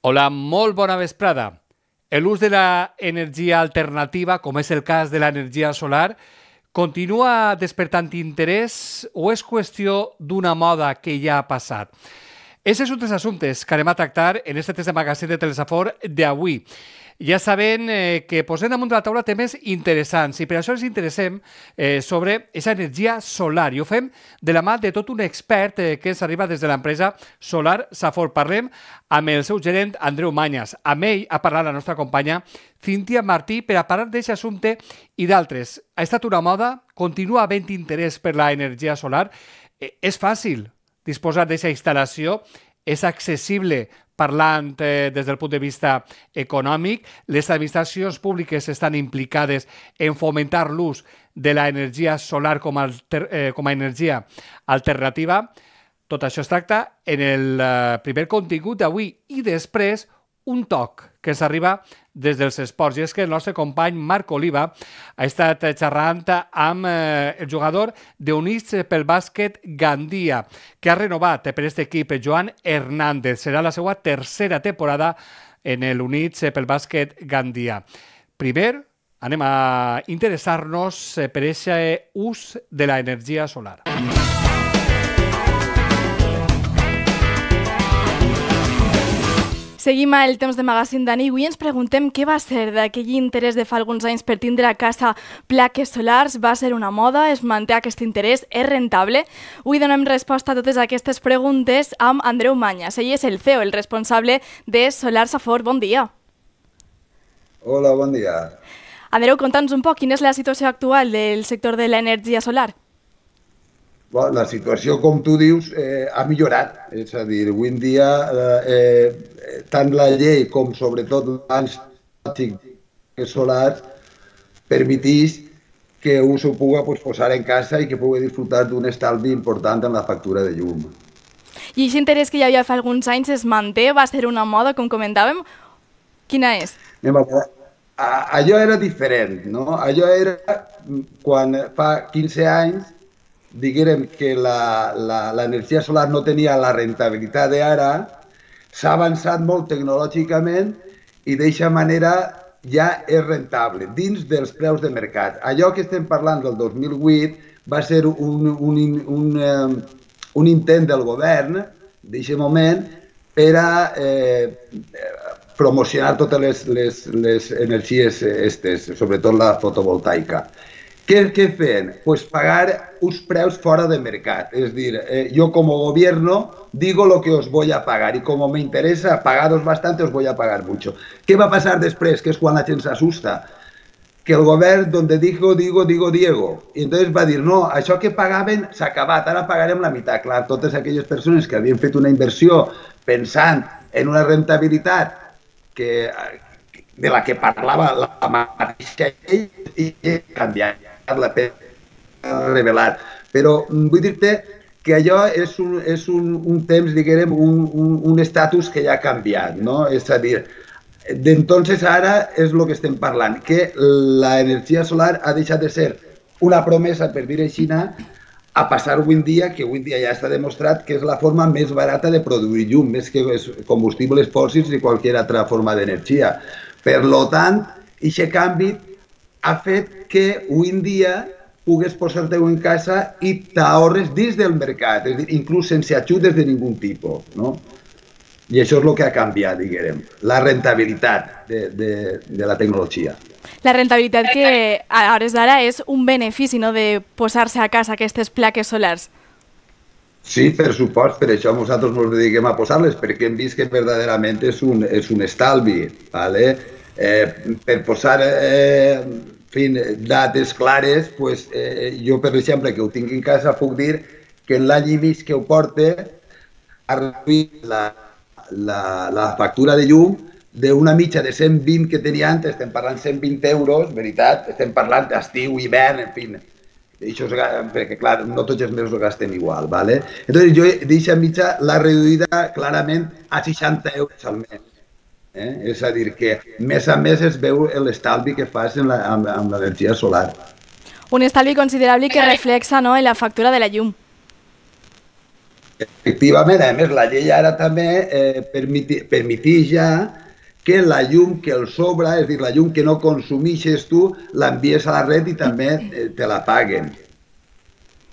Hola, molt bona vesprada. L'ús de l'energia alternativa, com és el cas de l'energia solar, continua despertant interès o és qüestió d'una moda que ja ha passat? Aquests són els assumptes que anem a tractar en aquest test de magazín de Telesafor d'avui. Ja sabem que posem damunt de la taula temes interessants i per això ens interessem sobre aquesta energia solar i ho fem de la mà de tot un expert que ens arriba des de l'empresa Solar Safor. Parlem amb el seu gerent Andreu Mañas. Amb ell ha parlat la nostra companya Cíntia Martí per a parlar d'aquest assumpte i d'altres. Ha estat una moda? Continua havent interès per l'energia solar? És fàcil disposar d'aquesta instal·lació? És accessible parlant des del punt de vista econòmic? Les administracions públiques estan implicades en fomentar l'ús de l'energia solar com a energia alternativa? Tot això es tracta en el primer contingut d'avui i després un toc que ens arriba des dels esports. I és que el nostre company Marc Oliva ha estat xerrant amb el jugador d'Units pel bàsquet Gandia, que ha renovat per aquest equip, Joan Hernández. Serà la seva tercera temporada en l'Units pel bàsquet Gandia. Primer, anem a interessar-nos per aquest ús de l'energia solar. Seguim el temps de magazín d'Ani. Avui ens preguntem què va ser d'aquell interès de fa alguns anys per tindre a casa plaques solars. Va ser una moda? Es manté aquest interès? És rentable? Avui donem resposta a totes aquestes preguntes amb Andreu Mañas. Ell és el CEO, el responsable de Solar Safor. Bon dia. Hola, bon dia. Andreu, conta'ns un poc quina és la situació actual del sector de l'energia solar. La situació, com tu dius, ha millorat. És a dir, avui en dia, tant la llei com sobretot l'abans solars permeteix que un s'ho pugui posar en casa i que pugui disfrutar d'un estalvi important en la factura de llum. I aquest interès que hi havia fa alguns anys es manté? Va ser una moda, com comentàvem? Quina és? Allò era diferent, no? Allò era quan fa 15 anys diguem que l'energia solar no tenia la rentabilitat d'ara, s'ha avançat molt tecnològicament i d'aquesta manera ja és rentable, dins dels preus de mercat. Allò que estem parlant del 2008 va ser un intent del govern d'aquest moment per a promocionar totes les energies aquestes, sobretot la fotovoltaica. Què feien? Pues pagar uns preus fora de mercat. És dir, yo como gobierno digo lo que os voy a pagar y como me interesa pagaros bastante os voy a pagar mucho. Què va passar després? Que és quan la gent s'assusta. Que el govern, donde digo, Diego. I entonces va dir, no, això que pagaven s'ha acabat, ara pagarem la meitat. Clar, totes aquelles persones que havien fet una inversió pensant en una rentabilitat de la que parlava la mateixa llei i canviar la revelar. Però vull dir-te que allò és un temps, diguem, un estatus que ja ha canviat, no? És a dir, d'entonces ara és el que estem parlant, que l'energia solar ha deixat de ser una promesa, per dir així, a passar avui en dia, que avui en dia ja està demostrat que és la forma més barata de produir llum, més que combustibles fòssils i qualsevol altra forma d'energia. Per tant, aquest canvi ha fet que avui en dia pugues posar-te-ho en casa i t'ahorres dins del mercat, és a dir, inclús sense ajudes de ningun tipus, no? I això és el que ha canviat, diguem, la rentabilitat de la tecnologia. La rentabilitat que a hores d'ara és un benefici, no?, de posar-se a casa aquestes plaques solars. Sí, per supost, per això nosaltres ens dediquem a posar-les, perquè hem vist que verdaderament és un estalvi, ¿vale? Per posar dates clares, jo, per exemple, que ho tinc en casa, puc dir que en l'any i mig que ho porte ha reduït la factura de llum d'una mitja de 120 que tenia antes, estem parlant 120 euros, veritat, estem parlant d'estiu, hivern, en fi. Perquè, clar, no tots els mesos ho gastem igual, ¿vale? Entonces, jo d'aquesta mitja l'ha reduïda clarament a 60 euros al mes. És a dir, que mes a mes es veu l'estalvi que fas amb l'energia solar. Un estalvi considerable que reflexa, no?, en la factura de la llum. Efectivament, a més, la llei ara també permeteix ja que la llum que el sobra, és a dir, la llum que no consumeixes tu, l'envies a la red i també te la paguen.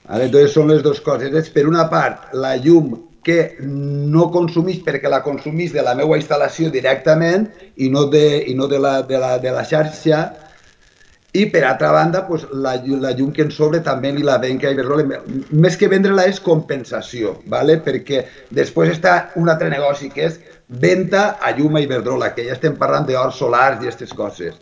Entonces són les dues coses. És, per una part, la llum que no consumís perquè la consumís de la meva instal·lació directament i no de la xarxa, i per altra banda, pues, la llum que en sobre també li la venc a Iberdrola. Més que vendre-la és compensació, ¿vale? Perquè després està un altre negoci que és venda a llum a Iberdrola, que ja estem parlant d'horts solars i aquestes coses.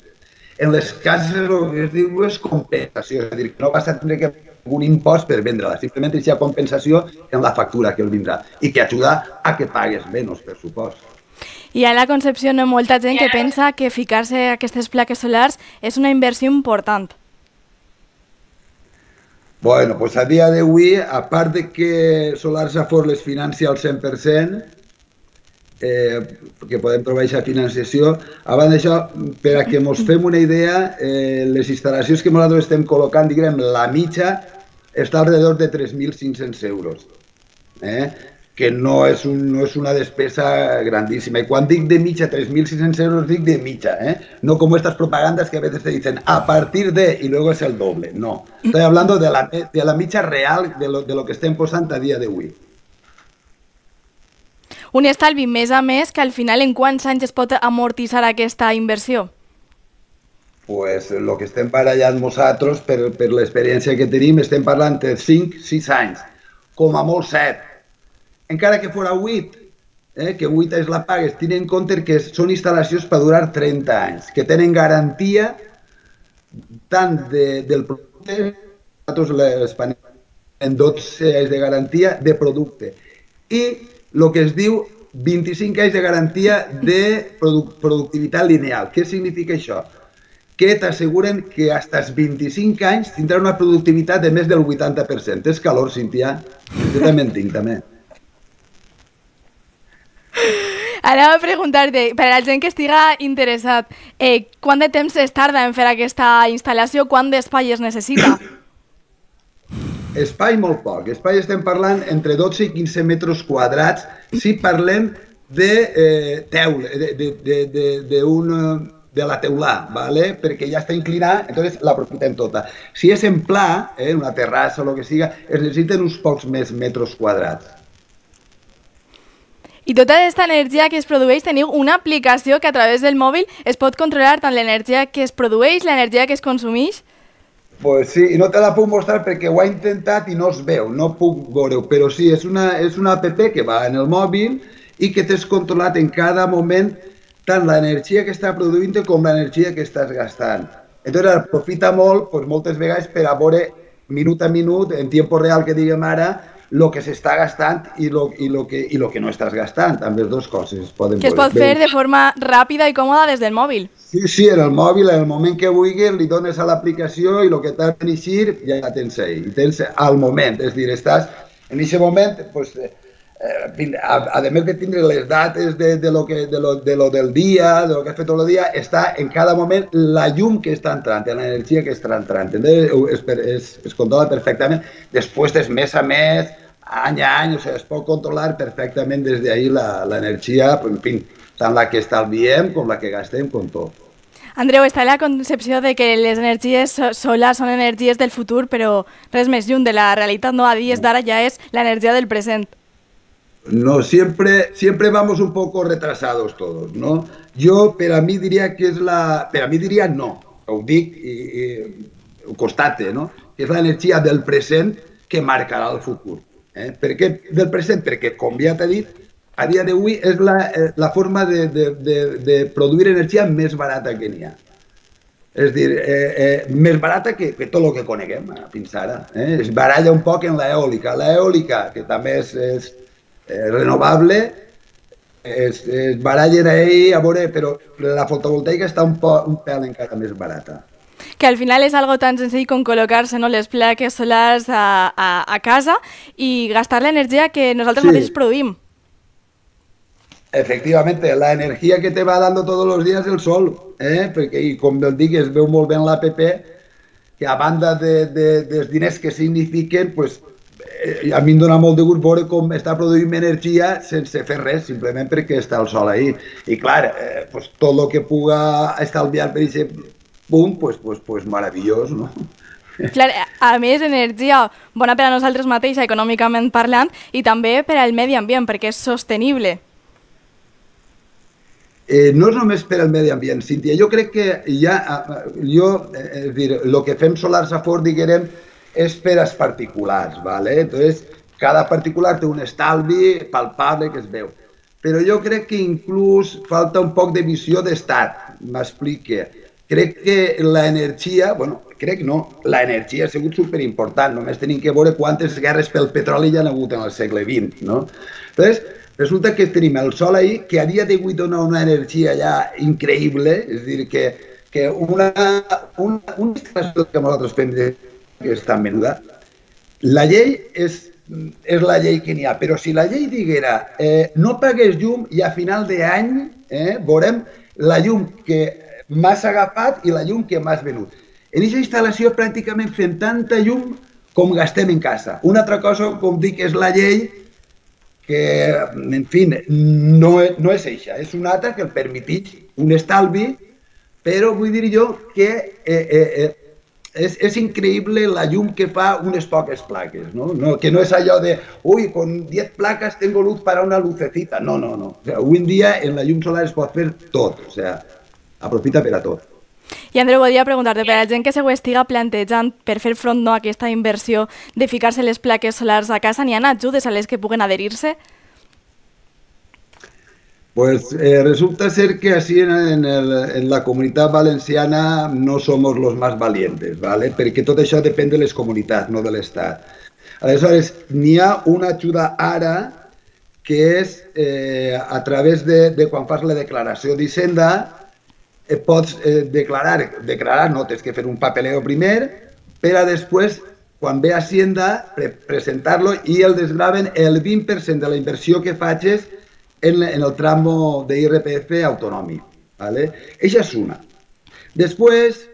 En les cases el que es diu és compensació, és a dir, que no vas a tenir que un impost per vendre-la, simplement hi ha compensació en la factura que el vindrà i que ajuda a que pagues menys, per supost. Hi ha a la Concepció molta gent que pensa que ficar-se aquestes plaques solars és una inversió important. Bueno, pues a dia d'avui, a part de que Solars Afore les financia al 100%, que podem trobar aquesta financiació, abans d'això, per a que ens fem una idea, les instal·lacions que nosaltres estem col·locant, diguem, la mitja està alrededor de 3.500 euros. Que no és una despesa grandísima. Y cuando digo de mitja 3.600 euros, digo de mitja, no como estas propagandas que a veces te dicen a partir de y luego es el doble. No, estoy hablando de la mitja real de lo que estem posant a dia d'avui. Un estalvi més a més que al final en quants anys es pot amortitzar aquesta inversió? Pues el que estem barallant nosaltres, per l'experiència que tenim, estem parlant de 5-6 anys, com a molt 7. Encara que fora 8, que 8 és la pagues, tenint en compte que són instal·lacions per durar 30 anys, que tenen garantia tant del producte, nosaltres en 12 anys de garantia de producte, i el que es diu 25 anys de garantia de productivitat lineal. Què significa això? Que t'asseguren que fins als 25 anys tindrà una productivitat de més del 80%. És calor, Cíntia? Jo també en tinc, també. Anava a preguntar-te, per a la gent que estiga interessat, quant de temps es tarda en fer aquesta instal·lació? Quant d'espai es necessita? Espai molt poc. Espai estem parlant entre 12 i 15 metres quadrats si parlem de la teulà, ¿vale? Perquè ja està inclinada, entonces l'aprofitem tota. Si és en pla, una terrassa o el que siga, es necessiten uns pocs més metres quadrats. I tota aquesta energia que es produeix, teniu una aplicació que a través del mòbil es pot controlar tant l'energia que es produeix, l'energia que es consumeix? Pues sí, i no te la puc mostrar perquè ho he intentat i no es veu, no puc veure-ho, però sí, és una app que va en el mòbil i que tens controlat en cada moment tant l'energia que està produint com l'energia que estàs gastant. Entonces aprofita molt, pues, moltes vegades per a veure minut a minut, en tiempo real que diguem ara, el que s'està gastant i el que no estàs gastant. Amb les dues coses es poden que es pot fer de forma ràpida i còmoda des del mòbil. Sí, en el mòbil, en el moment que vulguis, li dones a l'aplicació i el que t'ha de eixir ja la tens ahí. I tens al moment, és a dir, estàs en aquest moment, pues, a més de tindre les dates de lo del dia, de lo que has fet tot el dia, està en cada moment la llum que està entrant, l'energia que està entrant. Es controla perfectament. Després és mes a mes, any a any, o sigui, es pot controlar perfectament des d'ahir l'energia, en fi, tant la que estalviem com la que gastem, com tot. Andreu, està la concepció de que les energies solars són energies del futur, però res més lluny de la realitat, no? A dies d'ara ja és l'energia del present. No, siempre vamos un poco retrasados todos, ¿no? Yo, per a mi diria que és per a mi diria no, ho dic i ho constate, no? Que és l'energia del present que marcarà el futur. Per què del present? Perquè, com ja t'he dit, a dia d'avui és la forma de produir energia més barata que n'hi ha. És a dir, més barata que tot el que coneguem fins ara. Es baralla un poc en l'eòlica. L'eòlica, que també és renovable, es barallen ahí, a veure, però la fotovoltaica està un pèl encara més barata. Que al final és algo tan senzill com col·locar-se les plaques solars a casa i gastar l'energia que nosaltres mateixos produïm. Efectivamente, la energía que te va dando todos los días el sol, perquè, i com el dic, es veu molt bé en l'APP, que a banda dels diners que signifiquen, pues, a mi em dona molt de gust veure com està produint energia sense fer res, simplement perquè està el sol ahí. I clar, pues, tot el que puga estalviar per aquest punt, pues meravellós, no? Clar, a més, energia bona per a nosaltres mateixa, econòmicament parlant, i també per al medi ambient, perquè és sostenible. No és només per al medi ambient, Cíntia. Jo crec que és dir, el que fem solars a fort, diguem, és per als particulars, ¿vale? Entonces, cada particular té un estalvi palpable que es veu. Però jo crec que inclús falta un poc de visió d'estat, m'explique. Crec que l'energia, bueno, crec no, l'energia ha sigut superimportant, només tenim que veure quantes guerres pel petroli hi ha hagut en el segle XX, no? Entonces, resulta que tenim el sol ahí, que a dia d'avui dona una energia ja increïble, és a dir, que una instal·lació que nosaltres fem que és tan menuda, la llei és la llei que n'hi ha, però si la llei diguera no pagues llum i a final d'any veurem la llum que m'has agafat i la llum que m'has venut. En aquesta instal·lació pràcticament fem tanta llum com gastem en casa. Una altra cosa, com dic, és la llei que, en fi, no és eixa, és una altra que el permeteix un estalvi, però vull dir jo que és increïble la llum que fa unes poques plaques, no? Que no és allò de, ui, con 10 placas tengo luz para una lucecita. No. O sea, avui en dia en la llum solar es pot fer tot, o sea, aprofita per a tot. I Andreu, volia preguntar-te, per a la gent que se ho estiga plantejant per fer front a aquesta inversió de ficar-se les plaques solars a casa, n'hi ha ajudes a les que puguen adherir-se? Pues resulta ser que así en la comunitat valenciana no somos los más valientes, ¿vale? Perquè tot això depèn de les comunitats, no de l'Estat. Aleshores, n'hi ha una ajuda ara que és a través de quan fas la declaració d'Hisenda, pots declarar, no, tens que fer un papeleo primer, per a després, quan ve Hacienda, presentar-lo i el desgraven el 20% de la inversió que facis en el tramo de IRPF autonòmic, ¿vale? Esa es una. Después,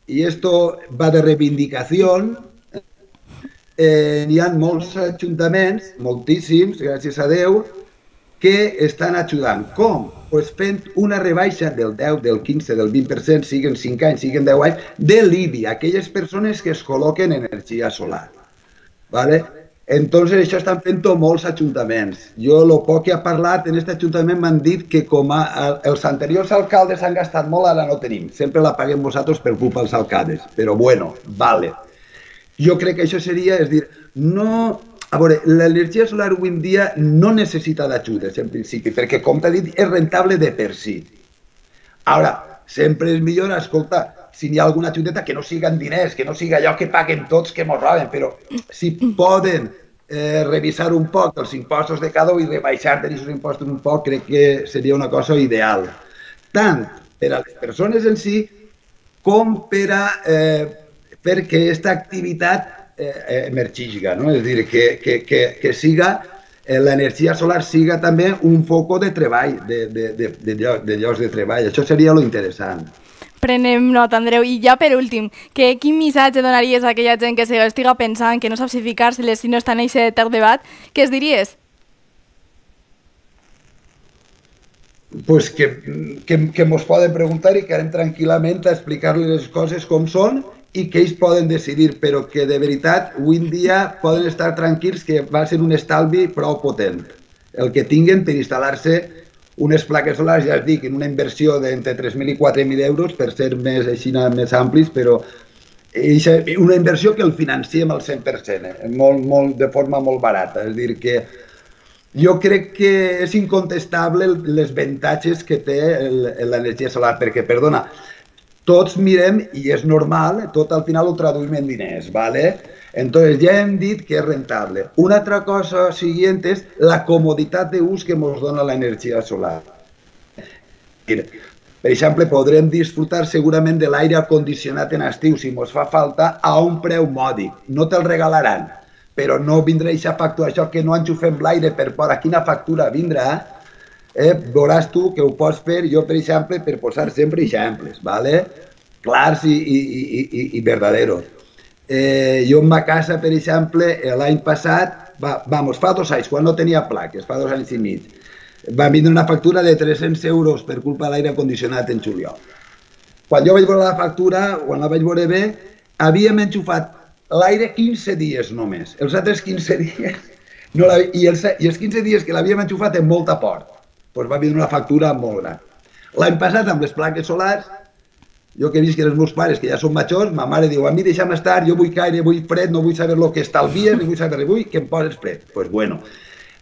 y esto va de reivindicación, hi ha molts ajuntaments, moltíssims, gràcies a Déu, que estan ajudant. Com? Pues fent una rebaixa del 10, del 15, del 20%, siguen 5 anys, siguen 10 anys, de l'IBI, aquelles persones que es col·loquen energia solar. ¿Vale? Entonces, això estan fent molts ajuntaments. Jo, el poc que he parlat en aquest ajuntament m'han dit que com els anteriors alcaldes han gastat molt, ara no tenim. Sempre la paguem vosaltres per culpa dels alcaldes. Però bueno, vale. Jo crec que això seria, és dir, no... A veure, l'energia solar avui en dia no necessita d'ajudes, en principi, perquè, com t'he dit, és rentable de per si. Ara, sempre és millor, escolta, si hi ha alguna ajudeta, que no siguen diners, que no siga allò que paguen tots, que mos roben, però si poden revisar un poc els impostos de cada un i rebaixar d'aquests impostos un poc, crec que seria una cosa ideal. Tant per a les persones en si, com per a fer que aquesta activitat emergisca, no? És a dir, que siga l'energia solar siga també un foc de treball, de llocs de treball. Això seria lo interessant. Prenem nota, Andreu. I ja per últim, quin missatge donaries a aquella gent que estiga pensant que no sap si ficar-se-les si no està en aquest debat? Què es diries? Pues que mos poden preguntar i que anem tranquil·lament a explicar-les les coses com són i que ells poden decidir, però que de veritat avui en dia poden estar tranquils que va ser un estalvi prou potent. El que tinguen per instal·lar-se unes plaques solars, ja es dic, en una inversió d'entre 3.000 i 4.000 euros, per ser més amplis, però una inversió que el financiem al 100%, de forma molt barata. És a dir, que jo crec que és incontestable els avantatges que té l'energia solar, perquè, perdona, tots mirem, i és normal, tot al final ho traduïm en diners, ¿vale? Entonces ja hem dit que és rentable. Una altra cosa siguiente és la comoditat d'ús que ens dona l'energia solar. Per exemple, podrem disfrutar segurament de l'aire acondicionat en estiu, si ens fa falta, a un preu mòdic. No te'l regalaran, però no vindrà aquesta factura, això que no enxufem l'aire per fora, quina factura vindrà? Veuràs tu que ho pots fer, jo per exemple, per posar sempre exemples, clars i verdaderos. Jo en ma casa, per exemple, l'any passat, fa 2 anys, quan no tenia plaques, fa 2 anys i mig, va vindre una factura de 300 euros per culpa de l'aire condicionat en juliol. Quan jo vaig veure la factura, quan la vaig veure bé, havíem enxufat l'aire 15 dies només. Els altres 15 dies, i els 15 dies que l'havíem enxufat amb molta por, doncs va vindre una factura molt gran. L'any passat, amb les plaques solars, jo que he vist que els meus pares, que ja són majors, ma mare diu, a mi deixa'm estar, jo vull caire, vull fred, no vull saber el que estalvies, ni vull saber res, vull que em poses fred. Doncs bueno,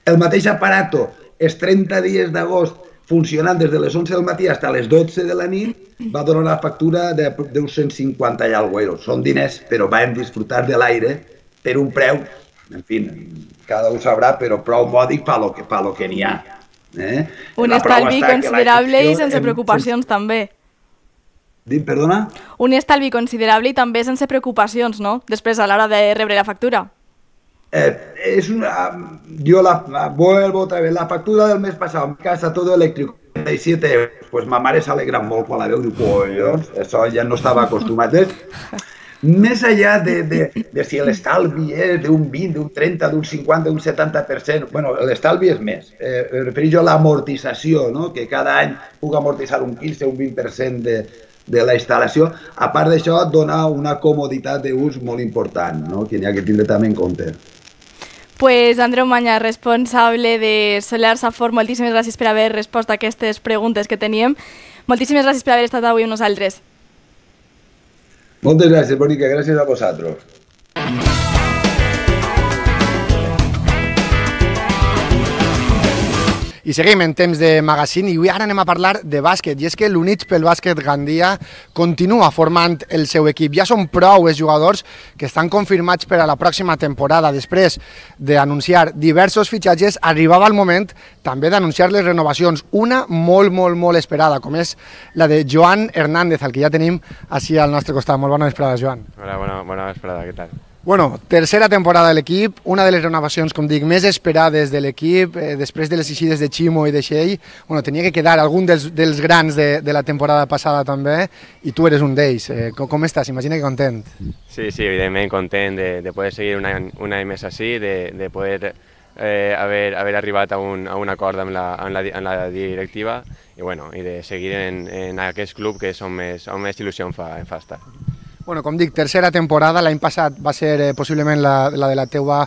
el mateix aparato, els 30 dies d'agost, funcionant des de les 11 del matí fins a les 12 de la nit, va donar una factura d'uns 150 i alguna euros. Són diners, però vam disfrutar de l'aire per un preu, en fi, cada un sabrà, però prou mòdic per lo que n'hi ha. Un estalvi considerable i sense preocupacions, també. Perdona? Un estalvi considerable i també sense preocupacions, no? Després, a l'hora de rebre la factura. Yo vuelvo otra vez, la factura del mes pasado, en casa todo eléctrico, 37 euros, pues ma mare s'alegra molt quan la veu, diu, collons, això ja no estava acostumat. Més allà de si l'estalvi és d'un 20, d'un 30, d'un 50, d'un 70%, bueno, l'estalvi és més. Refereixo a l'amortització, no? Que cada any puc amortitzar un 15 o un 20% de la instal·lació. A part d'això, dona una comoditat d'ús molt important, no? Que n'hi ha que tindre també en compte. Pues Andreu Maña, responsable de Solar Safor, moltíssimes gràcies per haver respost a aquestes preguntes que teníem. Moltíssimes gràcies per haver estat avui amb nosaltres. Moltes gràcies, Bonica, gràcies a vosaltres. I seguim en temps de magazine i avui ara anem a parlar de bàsquet, i és que l'Units pel Bàsquet Gandia continua formant el seu equip. Ja són prou els jugadors que estan confirmats per a la pròxima temporada. Després d'anunciar diversos fitxatges, arribava el moment també d'anunciar les renovacions, una molt esperada, com és la de Joan Hernández, el que ja tenim així al nostre costat. Molt bona vesprada, Joan. Hola, bona vesprada, què tal? Bueno, tercera temporada de l'equip, una de les renovacions, com dic, més esperades de l'equip, després de les eixides de Ximo i de Xell, bueno, tenia que quedar algun dels grans de la temporada passada també, i tu eres un d'ells. Com estàs? Imagina que content. Sí, evidentment content de poder seguir un any més així, de poder haver arribat a un acord amb la directiva i de seguir en aquest club que és on més il·lusió em fa estar. Bueno, com dic, tercera temporada, l'any passat va ser possiblement la de la teua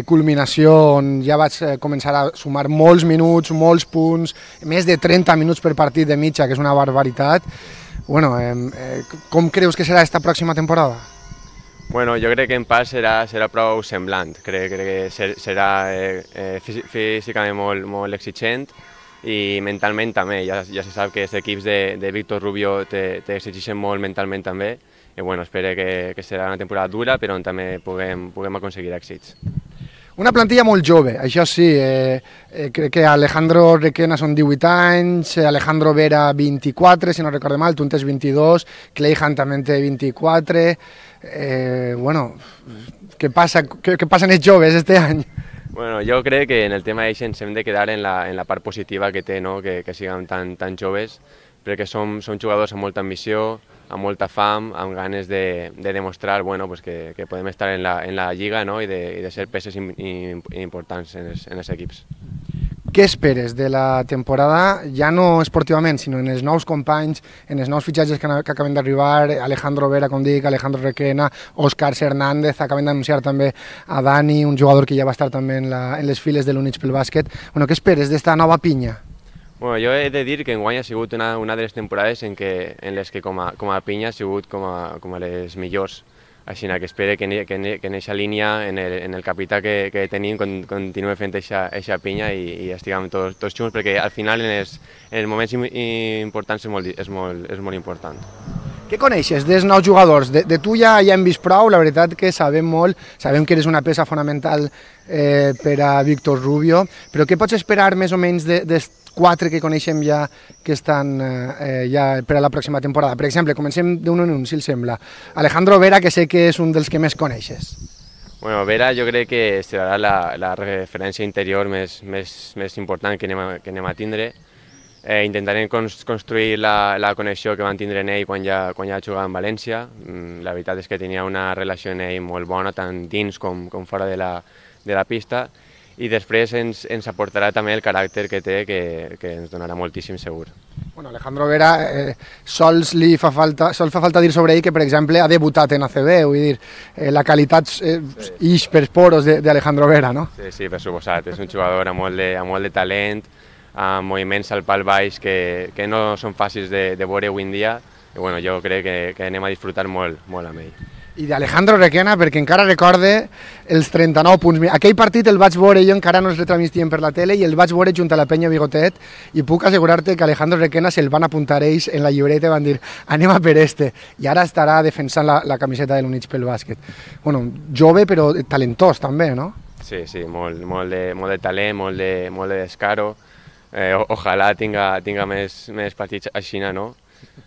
culminació, on ja vaig començar a sumar molts minuts, molts punts, més de 30 minuts per partit de mitja, que és una barbaritat. Bueno, com creus que serà aquesta pròxima temporada? Bueno, jo crec que en part serà prou semblant, crec que serà físicament molt exigent i mentalment també, ja se sap que els equips de Víctor Rubio t'exigeixen molt mentalment també, i bueno, espero que serà una temporada dura, però on també puguem aconseguir èxits. Una plantilla molt jove, això sí, crec que Alejandro Requena són 18 anys, Alejandro Vera 24, si no recordo mal, tu en tens 22, Cleihan també en té 24, bueno, què passa en els joves este any? Bueno, jo crec que en el tema d'això ens hem de quedar en la part positiva que té, no? Que siguem tan joves, perquè som jugadors amb molta ambició, amb molta fam, amb ganes de demostrar que podem estar en la lliga, no? I de ser peces importants en els equips. Què esperes de la temporada, ja no esportivament, sinó en els nous companys, en els nous fitxatges que acaben d'arribar, Alejandro Vera, com dic, Alejandro Requena, Òscar Hernández, acaben d'anunciar també a Dani, un jugador que ja va estar també en les files de l'Units pel Bàsquet. Bueno, què esperes d'esta nova pinya? Bueno, jo he de dir que enguany ha sigut una de les temporades en les que com a pinya ha sigut com a les millors. Així que espero que en aquesta línia, en el capità que tenim, continuï fent aquesta pinya i estiguem tots junts, perquè al final en els moments importants és molt important. Què coneixes dels nous jugadors? De tu ja hem vist prou, la veritat que sabem molt, sabem que eres una peça fonamental per a Víctor Rubio, però què pots esperar més o menys dels 4 que coneixem ja que estan ja per a la pròxima temporada? Per exemple, comencem d'un en un, si els sembla. Alejandro Vera, que sé que és un dels que més coneixes. Bueno, Vera jo crec que serà la referència interior més important que anem a tindre, Intentarem construir la connexió que van tindre en ell quan ja jugava en València. La veritat és que tenia una relació en ell molt bona, tant dins com fora de la pista, i després ens aportarà també el caràcter que té, que ens donarà moltíssim segur. Bueno, Alejandro Vera, sols fa falta dir sobre ell que, per exemple, ha debutat en ACB, vull dir, la qualitat ix per poros d'Alejandro Vera, no? Sí, per suposat, és un jugador amb molt de talent, amb moviments al pal baix que no són fàcils de veure avui en dia, i bueno, jo crec que anem a disfrutar molt amb ell. I d'Alejandro Requena, perquè encara recorde els 39 punts. Aquell partit el vaig veure, jo encara no els retransmitien per la tele, i el vaig veure junt a la penya Bigotet, i puc assegurar-te que Alejandro Requena se'l van apuntar ells en la llibreta i van dir anem a per este, i ara estarà defensant la camiseta de l'Units pel bàsquet. Bueno, jove però talentós també, no? Sí, molt de talent, molt de descaro. Ojalà tinga més partits així, no?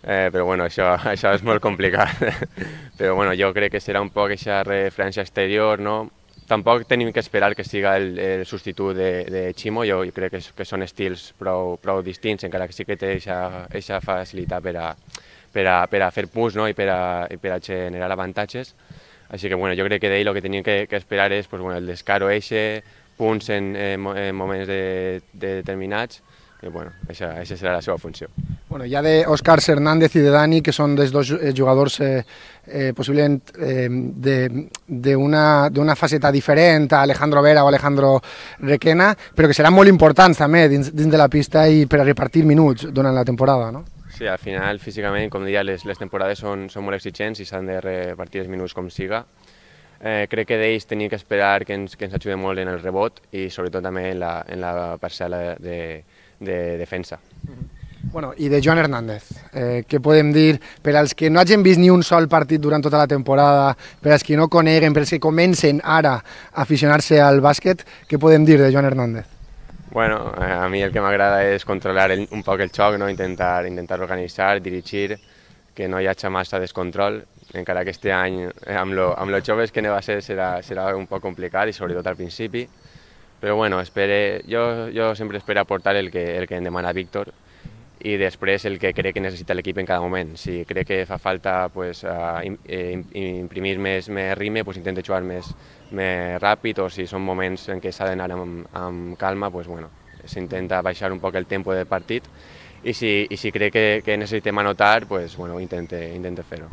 Però bueno, això és molt complicat. Però bueno, jo crec que serà un poc aquesta referència exterior, no? Tampoc tenim que esperar que siga el substitut de Chimo, jo crec que són estils prou distints, encara que sí que té aquesta facilitat per a fer punts, no? I per a generar avantatges. Així que bueno, jo crec que d'ell el que tenim que esperar és el descaro eixe, punts en moments determinats, i bueno, aquesta serà la seva funció. Bueno, hi ha d'Òscar Hernández i de Dani, que són dels dos jugadors possiblement d'una faceta diferent a Alejandro Vera o Alejandro Requena, però que seran molt importants també dins de la pista i per a repartir minuts durant la temporada, no? Sí, al final, físicament, com deia, les temporades són molt exigents i s'han de repartir els minuts com siga. Crec que d'ells tenim que esperar que ens ajuden molt en el rebot i sobretot també en la parcel·la de defensa. Bueno, i de Joan Hernández, què podem dir per als que no hagin vist ni un sol partit durant tota la temporada, per als que no coneguen, per als que comencen ara a aficionar-se al bàsquet, què podem dir de Joan Hernández? Bueno, a mi el que m'agrada és controlar un poc el xoc, no? Intentar organitzar, dirigir, que no hi hagi massa descontrol, encara que este any amb los joves que ne va ser serà un poc complicat i sobretot al principi, però bueno, jo sempre espero aportar el que em demana Víctor i després el que crec que necessita l'equip en cada moment. Si crec que fa falta imprimir més ritme, intento jugar més ràpid, o si són moments en què s'ha d'anar amb calma, s'intenta baixar un poc el tempo del partit, i si crec que necessitem anotar, intento fer-ho.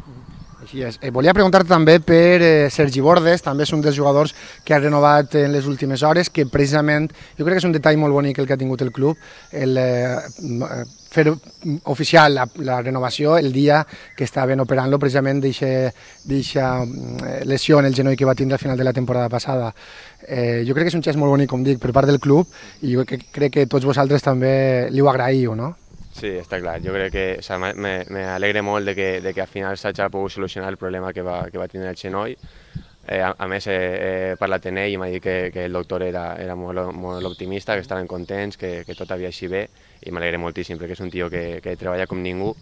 Així és. Volia preguntar-te també per Sergi Bordes, també és un dels jugadors que ha renovat en les últimes hores, que precisament, jo crec que és un detall molt bonic el que ha tingut el club, fer oficial la renovació el dia que estaven operant-lo precisament d'eixa lesió en el genoll que va tindre al final de la temporada passada. Jo crec que és un gest molt bonic, com dic, per part del club, i jo crec que tots vosaltres també li ho agraïu, no? Sí, està clar. Jo crec que m'alegre molt de que al final s'hagi pogut solucionar el problema que va tenir el genoll. A més, he parlat amb ell i m'ha dit que el doctor era molt optimista, que estaven contents, que tot havia així bé, i m'alegre moltíssim perquè és un tio que treballa com ningú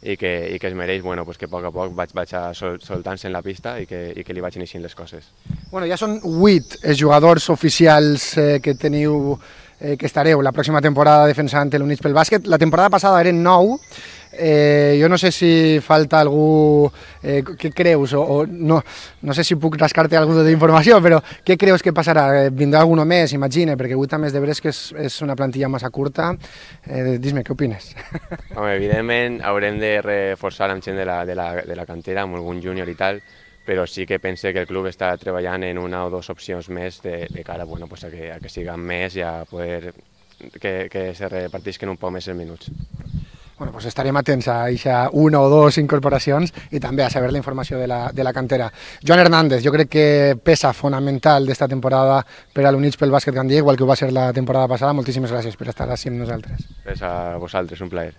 i que es mereix que a poc vaig soltant-se en la pista i que li vagin eixint les coses. Bueno, ja són 8 jugadors oficials que teniu que estareu la pròxima temporada defensant l'Units pel bàsquet. La temporada passada eren 9. Jo no sé si falta algú, què creus, o no sé si puc rascar-te alguna d'informació, però què creus que passarà? Vindrà algú més, imagina, perquè 8 a més de veres que és una plantilla massa curta. Dis-me, què opines? Home, evidentment haurem de reforçar amb gent de la cantera, amb algun júnior i tal, però sí que pense que el club està treballant en una o dues opcions més de cara a que siguin més i a poder que se repartisquen un poc més els minuts. Bueno, pues estarem atents a aquesta una o dues incorporacions i també a saber la informació de la cantera. Joan Hernández, jo crec que peça fonamental d'esta temporada per a l'Units pel bàsquet Gandia, igual que ho va ser la temporada passada. Moltíssimes gràcies per estar així amb nosaltres. Gràcies a vosaltres, un plaer.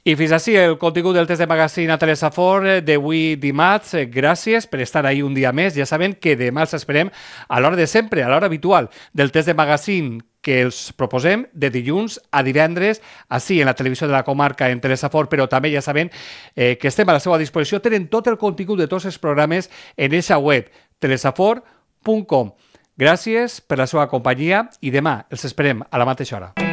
I fins així el contingut del test de magazine a Telesafor d'avui dimarts. Gràcies per estar ahí un dia més. Ja saben que demà els esperem a l'hora de sempre, a l'hora habitual del test de magazine que els proposem de dilluns a divendres, així en la televisió de la comarca en Telesafor, però també ja saben que estem a la seva disposició. Tenen tot el contingut de tots els programes en eixa web, telesafor.com. Gràcies per la seva companyia i demà els esperem a la mateixa hora.